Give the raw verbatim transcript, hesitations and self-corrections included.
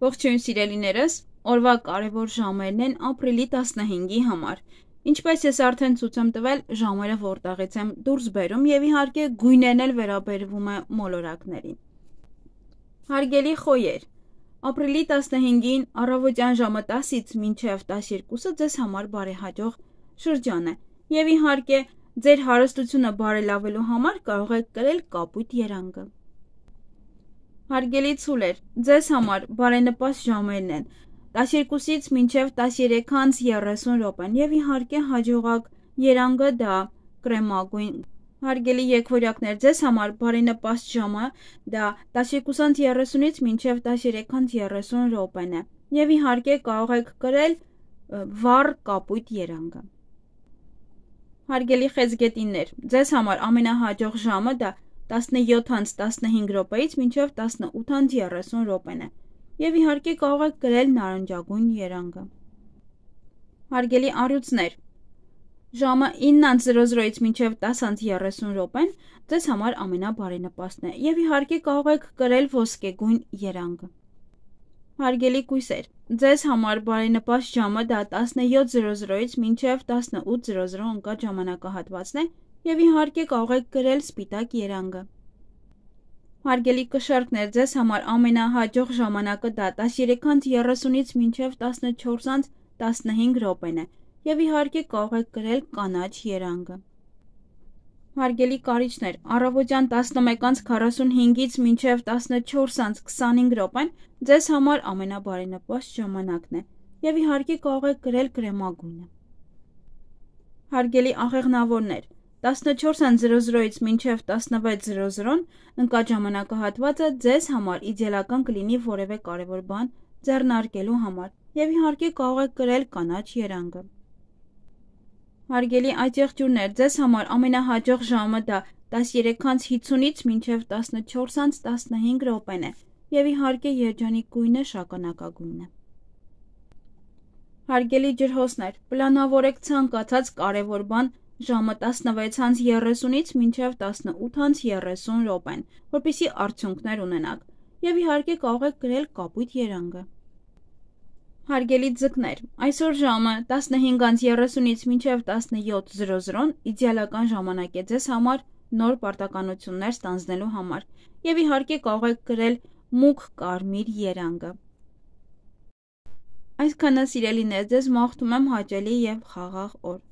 Ողջույն սիրելիներս, օրվա կարևոր ժամերն են ապրիլի տասնհինգի համար։ Ինչպես ես արդեն ցույց եմ տվել, ժամերը որտեղից եմ դուրս բերում եւ իհարկե գույներն էլ վերաբերվում է մոլորակներին։ Հարգելի խոյեր, ապրիլի տասնհինգին առավոտյան ժամը տասից մինչև տասներկուսը ձեզ համար բարեհաջող շրջան է եւ իհարկե ձեր հարստությունը բարելավելու համար կարող եք կրել կապույտ երանգը։ Հարգելի ցուլեր, ձեզ համար բարենպաստ ժամերն են տասներկուսից մինչև տասներեք անց երեսուն րոպեն եւ իհարկե հաջողակ երանգը դա կրեմագույն։ Հարգելի եկվորյակներ, ձեզ համար բարենպաստ ժամը դա տասներկուս անց երեսունից մինչև տասներեք անց երեսուն րոպեն է եւ իհարկե կարող եք կրել վառ կապույտ երանգը։ Հարգելի խեցգետիններ, ձեզ համար ամենահաջող ժամը դա տասնյոթ անց տասնհինգ րոպեից մինչև տասնութ անց երեսուն րոպեն է եւ իհարկե կարող եք կրել նարնջագույն երանգը։ Հարգելի առյուծներ, ժամը ինը անց զրո զրոից մինչև տաս անց երեսուն րոպեն ձեզ համար ամենաբարենպաստն է եւ իհարկե կարող եք կրել ոսկեգույն երանգը։ Հարգելի կույսեր, ձեզ համար բարենպաստ ժամը դա տասնյոթ զրո զրոից մինչև տասնութ զրո զրո ընկած ժամանակահատվածն է եւ իհարկե կարող եք կրել սպիտակ երանգը։ Հարգելի կշառքներ, ձեզ համար ամենահաջող ժամանակը դա տասներեք անց երեսունից մինչև տասնչորս անց տասնհինգ րոպեն է եւ իհարկե կարող եք կրել կանաչ երանգը։ Հարգելի կարիճներ, առավոտյան տասնմեկ անց քառասունհինգից մինչև տասնչորս անց քսանհինգ րոպեն ձեզ համար ամենաբարենպաստ ժամանակն է եւ իհարկե կարող եք կրել կրեմագույնը։ Հարգելի աղեղնավորներ, տասնչորս անց զրո զրոից մինչև տասնվեց զրո զրոն ընկած ժամանակահատվածը ձեզ համար իդեալական կլինի որևէ կարևոր բան ձեռնարկելու համար եւ իհարկե կարող եք կրել կանաչ երանգը։ Հարգելի այծեղջյուրներ, ձեզ համար ամենահաջող ժամը դա տասներեք անց հինգից մինչև տասնչորս անց տասնհինգ րոպեն է եւ իհարկե երջանիկ գույնը շագանակագույնն է։ Հարգելի ջրհոսներ, պլանավորեք ցանկացած կարևոր բան ժամը տասնվեց անց երեսունից մինչև տասնութ անց երեսուն րոպեն, որպեսզի արդյունքներ ունենաք եւ իհարկե կարող եք կրել կապույտ երանգը։ Հարգելի ձկներ, այսօր ժամը տասնհինգ անց երեսունից մինչև տասնյոթ զրո զրոն իդեալական ժամանակ է ձեզ համար նոր պարտականություններ ստանձնելու համար եւ իհարկե կարող եք կրել մուգ կարմիր երանգը։ Այսքանը սիրելիներ, ձեզ մաղթում եմ հաճելի եւ խաղաղ օր։